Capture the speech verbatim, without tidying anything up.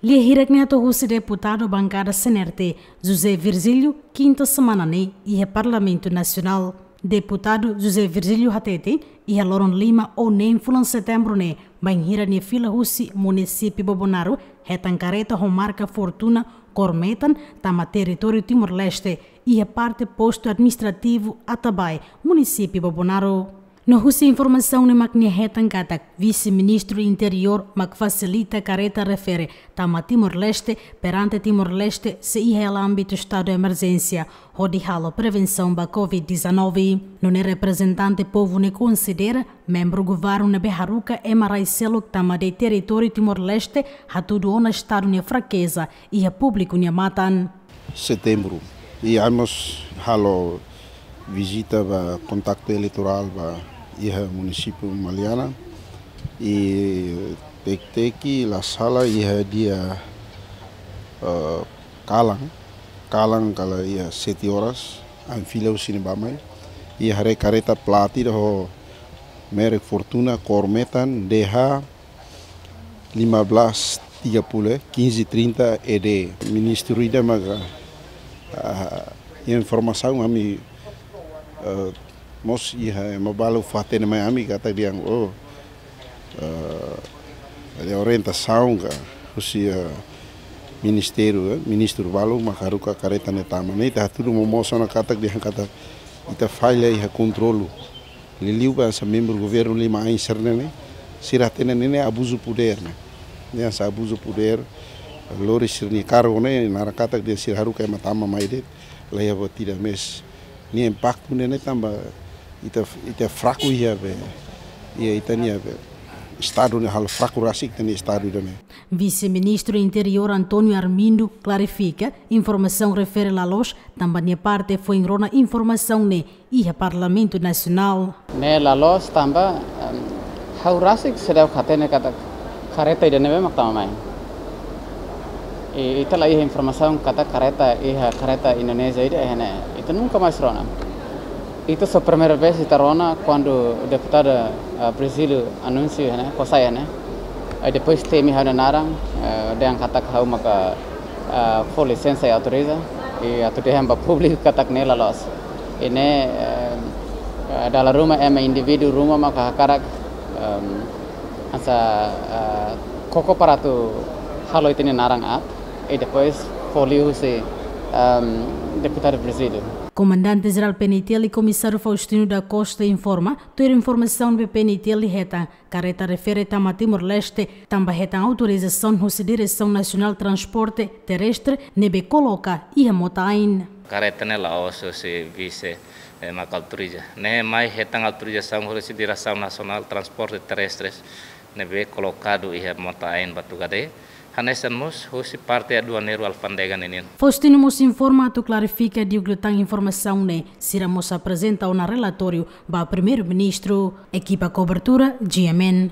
Lia hirak ne'e hato'o husi deputadu bankada C N R T, José Virgílio, kinta semana ne'e iha Parlamentu Nasionál. Deputadu José Virgílio hateten, iha loron lima ou neen fulan Setembru ne'e, bainhira nia fila husi munisípiu Bobonaro hetan kareta ho marka Fortuna kór metan tama territóriu Timor-Leste, iha parte postu administrativu Atabae, munisípiu Bobonaro. No husi informasaun ne'e mak nia hetan katak Vise-Ministru Interiór mak fasilita kareta refere tama Timor-Leste, perante Timor-Leste sei iha hela ámbitu estadu emerjénsia hodi halo prevensaun ba covid dezanove. Nune'e reprezentante povu ne'e konsidera membru governu ne'ebé haruka ema rai seluk tama de'it territóriu Timor-Leste hatudu ona estadu nia frakeza iha públiku nia matan. Setembru. I ami mós halo vizita ba kontaktu eleitorál ba iha munisípiu Maliana. I teki-teki la sala iha dia, eh, kalan, kalan kala iha sete horas, ami fila husi ne'e bá mai. I haree kareta plat ida ho merek Fortuna, kór metan, D H lima belas tiga puluh, eh, quinze trinta E D. Ministru ida maka, ah, informasaun ami, eh, mós iha ema balu fó-hatene mai ami katak dehan, oh, eh, ada orientasaun ka husi, eh, ministériu, eh, ministru balu mak haruka kareta ne'e tama. Ne'e ita hatudu momoos ona katak dehan katak ita falla iha kontrolu. Liuliu ba hanesan membru governu lima ain sira-ne'e, sira hatene ne'e abuzu podér ne'e. Ne'e hanesan abuzu podér, lori sira-nia kargu ne'e, naran katak dehan sira haruka ema tama mai de'it, la iha buat ida mais. Nia impaktu ne'e, ne'e tanba ita, ita fraku iha be, iha ita-nia be, estadu ne'e halo fraku rasik ita-nia estadu ida-ne'e. Vise-Ministru Interiór António Armindo klarifika, informasaun refere la loos, tanba nia parte foin rona informasaun ne'e iha Parlamentu Nasionál. Ne'e la loos tanba, em, ha'u rasik seidauk hatene katak kareta ida ne'ebé mak tama mai. I, ita la iha informasaun katak kareta, iha kareta Indonézia ida iha ne'e. Ita nunka mais rona. Ita só primeira vez ita rona kuandu deputadu, ah, Virgílio anunsiu iha ne'e, kosai iha ne'e. Aí depois temi ha'u-nia naran, eh, dehan katak ha'u maka, eh, fó lisensa i autoriza, i atu dehan ba públiku katak ne'e la loos. I ne'e, eh, eh, dala ruma ema indivíduu ruma maka hakarak, em, hanesan, eh, koko para atu halo ita-nia naran aat, i depois fó liu husi, em, deputadu Virgílio. Komandante Jerál P N I T L, Komisáriu Faustino da Costa informa, tuir informasaun ne'ebé P N I T L hetan, kareta refere tama Timor-Leste, tanba hetan autorizasaun husi Diresaun Nasionál Transporte Terrestre, ne'ebé koloka iha mota-ain. Kareta ne'e la'ós husi vise, eh, mak autoriza. Ne'e mai hetan autorizasaun husi Diresaun Nasionál Transporte Terrestres, ne'ebé kolokadu iha mota-ain Batugade. Hanesan mós husi parte aduaneiru alfándega ninian. Faustino mós informa atu klarifika diuk liután informasaun ne'e, sira mós aprezenta ona relatóriu ba Primeiru-Ministru. Ekipa kobertura, G M N.